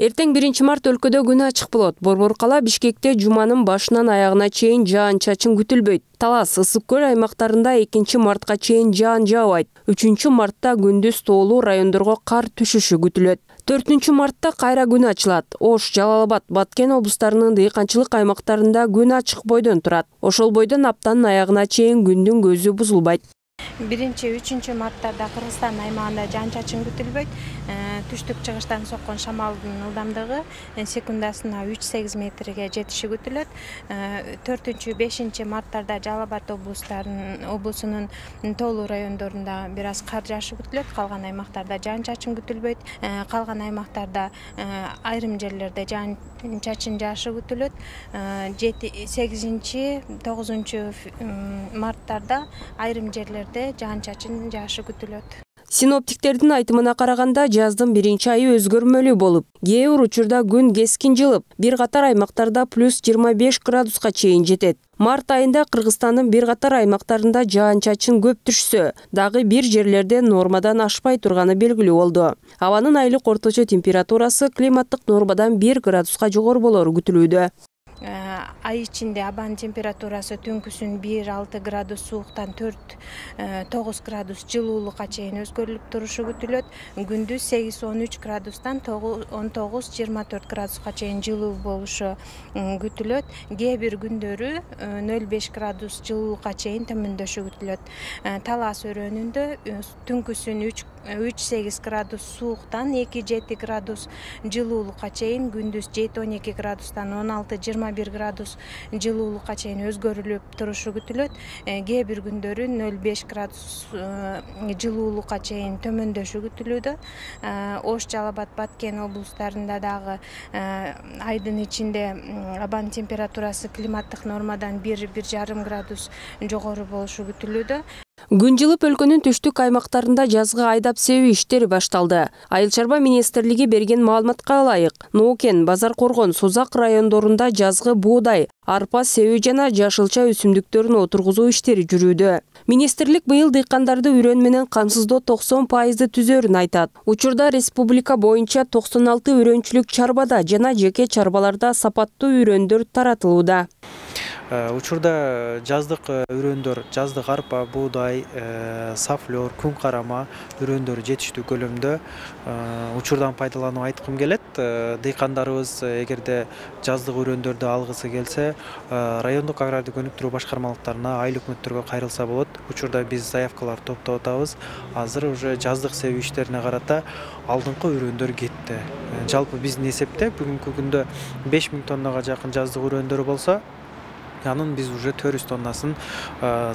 Эртең 1-март өлкөдө күн ачык болот. Борбор кала Бишкекте жуманын башынан аягына чейин жаан-чачын күтүлбөйт. Талас, Ысык көл аймактарында 2-мартка чейин жаан жаабайт. 3-мартта күндүз тоолуу райондорго кар түшүшү күтүлөт. 4-мартта кайра күн ачылат. Ош, Жалал-Абад, Баткен облустарынын дыйканчылык аймактарында күн ачык бойдон турат. Ошол бойдон аптанын аягына чейин күндүн көзү бузулбайт. 1-3 марттарда Кыргызстан аймагында жаан-чачын күтүлбөйт. Түштүк-чыгыштан соккон шамалдын ылдамдыгы секундасына 3-8 метрге жетиши күтүлөт. 4-5 марттарда Жалал-Абад облусунун тоолуу райондорунда бир аз кар жаашы күтүлөт. Калган аймактарда жаан-чачын күтүлбөйт. Калган аймактарда айрым жерлерде жаан-чачын жаашы күтүлөт. 8-9 марттарда айрым жерлерде жаан-чачын жаашы күтүлөт. Синоптиктердин айтымына караганда, жаздын 1-айы өзгөрмөлүү болуп, кээ бир учурда күн кескин жылып, бир катар аймактарда +25 градуска чейин жетет. Март айында Кыргызстандын бир катар аймактарында жаан-чачын көп түшсө, дагы бир жерлерде нормадан ашпай турганы белгилүү болду. Абанын айлык орточо температурасы климаттык нормадан 1 градуска жогору болору күтүлүүдө. Ай ичинде абанын температурасы түнкүсүн 1-6 градус сууктан 4-9 градус жылуулукка чейин өзгөрүлүп турушу күтүлөт. Күндүз 8-13 градустан 19-24 градуска чейин жылуу болушу күтүлөт. Кээ бир күндөрү 0,5 градус жылуулукка чейин төмөндөшү күтүлөт. Талас өрөөнүндө түнкүсүн 3-8 градус сууктан 2-7 градус жылуулукка чейин, күндүз 7-12 градустан 16-21 градус жылуулукка чейин өзгөрүлүп турушу күтүлөт. Кээ бир күндөрү 0,5 градус жылуулукка чейин төмөндөшү күтүлүүдө. Ош, Жалал-Абад, Баткен облустарында дагы айдын ичинде абанын температурасы климаттык нормадан 1-1,5 градус жогору болушу күтүлүүдө. Күн жылып өлкөнүн түштүк аймактарында жазгы айдап себүү иштери башталды. Айыл чарба министрлиги берген маалыматка ылайык, Ноокен, Базар Коргон, Созак райондорунда жазгы буудай, арпа себүү жана жашылча өсүмдүктөрүн отургузуу иштери жүрүүдө. Министрлик быйыл дыйкандарды үрөн менен камсыздоо 90% түзөрүн айтат. Учурда республика боюнча 96 үрөнчүлүк чарбада жана жеке чарбаларда сапаттуу үрөндөр таратылууда. Учурда жаздык үрөндөр, жаздык арпа, буудай, сафлер, күн карама үрөндөр жетиштүү көлөмдө. Учурдан пайдаланып айткым келет. Дыйкандарыбыз эгерде жаздык үрөндөрдү алгысы келсе, райондук агрардык өнүктүрүү башкармалыктарына, айыл өкмөттөргө кайрылса болот. Учурда биз заявкалар топтоп атабыз. Азыр уже жаздык себүү иштерине карата алдыңкы үрөндөр кетти. Жалпы биздин эсепте бүгүнкү күндө 5000 тоннага жакын жаздык үрөндөр болсо, анын биз уже 400 тоннасын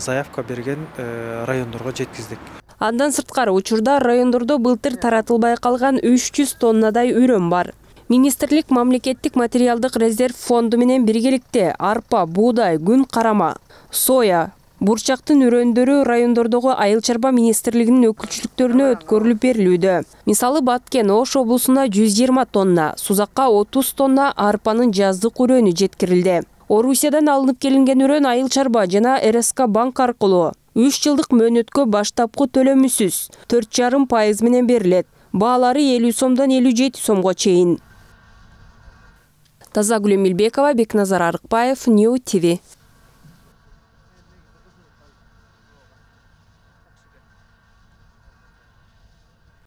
заявка берген райондорго жеткиздик. Андан сырткары учурда райондордо былтыр таратылбай калган 300 тоннадай үрөн бар. Министрлик мамлекеттик материалдык резерв фонду менен биргеликте арпа, буудай, күн карама, соя, бурчактын үрөндөрү райондордогу айыл чарба министрлигинин өкүлчүлүктөрүнө өткөрүлүп берилүүдө. Мисалы Баткен, Ош облусуна 120 тонна, Сузакка 30 тонна арпанын жаздык үрөнү жеткирилди. Орусиядан алынып келинген үрөн айыл чарба жана РСК банк аркылуу 3 жылдык мөөнөткө баштапкы төлөмүсүз 4,5% менен берилет. Баалары 50 сомдон 57 сомго чейин. Тазагүл Эмилбекова, Бекназар Арыкбаев, Нью ТВ.